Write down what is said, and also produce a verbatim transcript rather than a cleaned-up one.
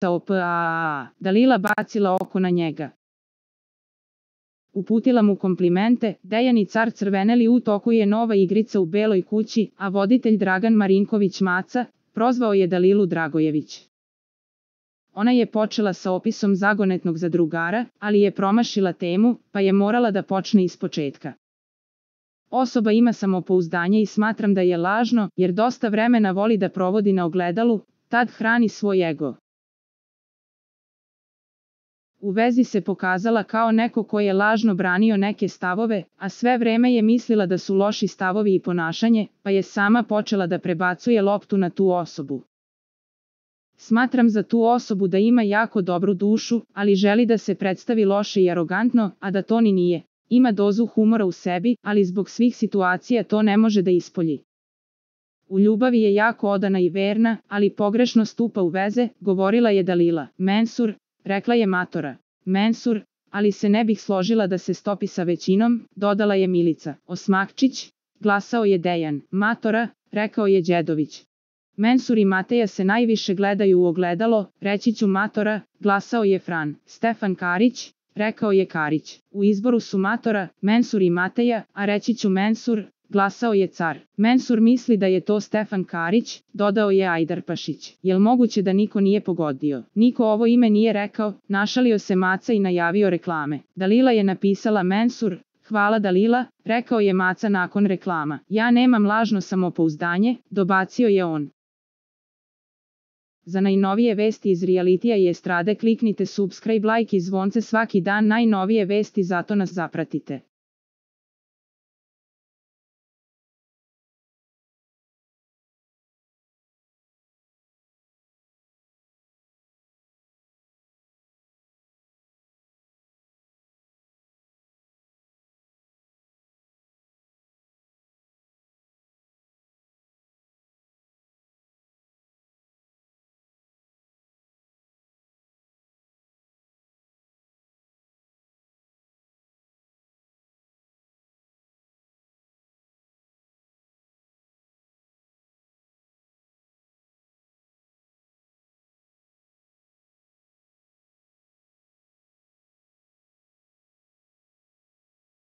o P A A. Dalila bacila oko na njega. Uputila mu komplimente, Dejan i car crveneli u toku je nova igrica u Beloj kući, a voditelj Dragan Marinković Maca, prozvao je Dalilu Dragojević. Ona je počela sa opisom zagonetnog zadrugara, ali je promašila temu, pa je morala da počne ispočetka. Osoba ima samopouzdanje i smatram da je lažno, jer dosta vremena voli da provodi na ogledalu, tad hrani svoj ego. U vezi se pokazala kao neko ko je lažno branio neke stavove, a sve vreme je mislila da su loši stavovi i ponašanje, pa je sama počela da prebacuje loptu na tu osobu. Smatram za tu osobu da ima jako dobru dušu, ali želi da se predstavi loše i arogantno, a da to ni nije. Ima dozu humora u sebi, ali zbog svih situacija to ne može da ispolji. U ljubavi je jako odana i verna, ali pogrešno stupa u veze, govorila je Dalila. Mensur, rekla je Matora. Mensur, ali se ne bih složila da se stopi sa većinom, dodala je Milica. Osmakčić, glasao je Dejan. Matora, rekao je Đedović. Mensur i Mateja se najviše gledaju u ogledalo, reći ću Matora, glasao je Fran. Stefan Karić, rekao je Karić. U izboru su Matora, Mensur i Mateja, a reći ću Mensur, glasao je car. Mensur misli da je to Stefan Karić, dodao je Ajdarpašić. Jel moguće da niko nije pogodio? Niko ovo ime nije rekao, našalio se Maca i najavio reklame. Dalila je napisala Mensur, hvala Dalila, rekao je Maca nakon reklama. Ja nemam lažno samopouzdanje, dobacio je on. Za najnovije vesti iz realitija i estrade kliknite subscribe, like i zvonce svaki dan, najnovije vesti, zato nas zapratite.